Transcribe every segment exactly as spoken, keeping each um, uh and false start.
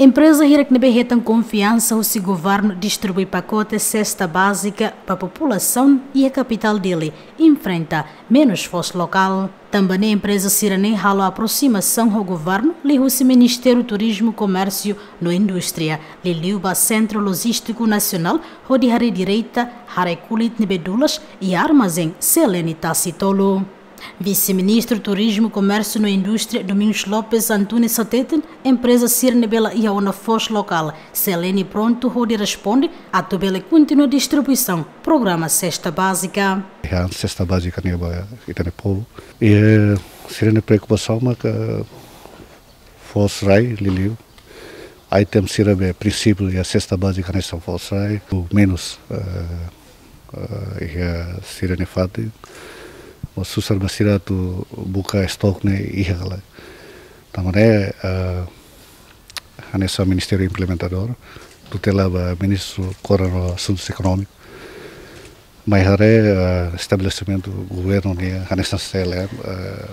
Empreza hirak ne'ebé hetan konfiansa husi governu distribui pakote sesta bázika ba populasaun iha kapitál Dili enfrenta menus foos lokál. Tanba ne'e empreza sira-ne'e halo aprosimasaun ho governu liuhusi Ministériu Turizmu, Komérsiu no Indústria, liuliu ba Sentru Lojístiku Nasionál, hodi haree direta haree kulit ne'ebé dulas iha armazén C L N Tasi Tolu. Vise-Ministru Turizmu, Komérsiu no Indústria, Domingos Lopes Antunes hateten, empreza sira ne'ebé la iha ona foos lokál, C L N prontu hodi responde atu bele kontinua distribuisaun programa sesta bázika. Iha sesta bázika ne'e ba ita-nia povu. I, eh, sira-nia preokupasaun maka foos rai, liuliu item sira be prinsípiu iha sesta bázika hanesan foos rai, o menus, eh, eh, iha sira-nia fatin. Mós susar ba sira atu buka estok ne'e iha ka lae. Tanba ne'e, eh, hanesan Ministériu Implementadór, tutela ba Ministru Koordenadór Asuntus Ekonómiku, mai haree, eh, estabelesimentu governu nian, hanesan C L N, eh,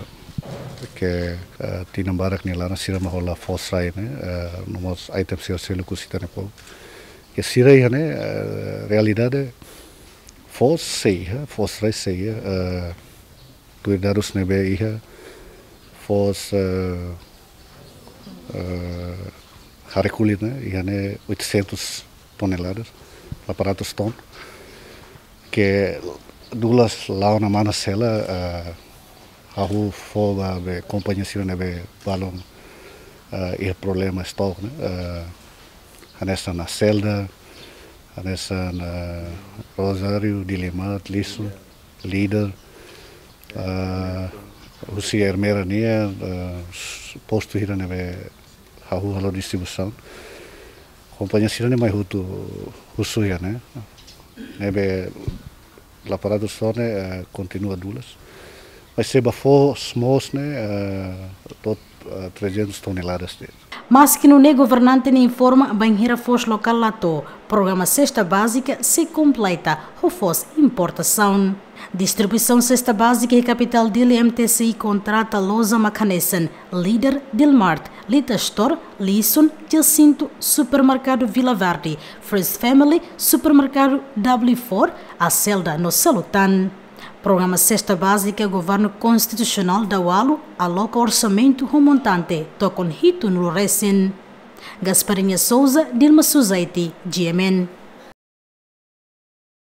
ke, eh, tinan barak nia laran sira mak hola foos rai ne'e, eh, no mós item sira seluk husi ita-nia povu. Ke sira iha ne'e, eh, realidade foos sei iha, foos rai sei iha, eh, tuir dadus ne'ebé iha, foos, eh, eh, haree kulit ne'e iha ne'e oitocentos toneladas, delapan ratus ton. Ke dulas la'o ona manas hela, eh, hahú fó ba be kompañia sira ne'ebé balun, eh, iha problema estok ne'e, eh, hanesan Acelda, hanesan, eh, Rosário, Dilimart, Lixus, Líder, eh, husi Ermera nian, eh, postu hira ne'ebé hahú halo distribuisaun. Kompañia sira-ne'e mai hotu husu iha ne'e. Ne'ebé delapan ratus ton ne'e, eh, kontinua dulas. Mas se ba foos moos ne'e, eh, to'o, eh, trezentos toneladas de'it. Maski nune'e governante ne'e informa bainhira foos lokál la to'o, programa sesta bázika sei kompleta ho foos importasaun. Distribuisaun sesta bázika iha kapitál Dili, M T C I kontrata loja mak hanesan Líder, Dilimart, Lita Store, Lixus, Jacinto, Supermerkadu Vila Verde, Fresh Family, Supermerkadu W four, Acelda no seluk tan. Programa sesta bázika governu konstitusionál daualu aloka orsamentu ho montante tokon hitunulu resin. Gasparinha Souza, Dilma Suzaiti, G M N.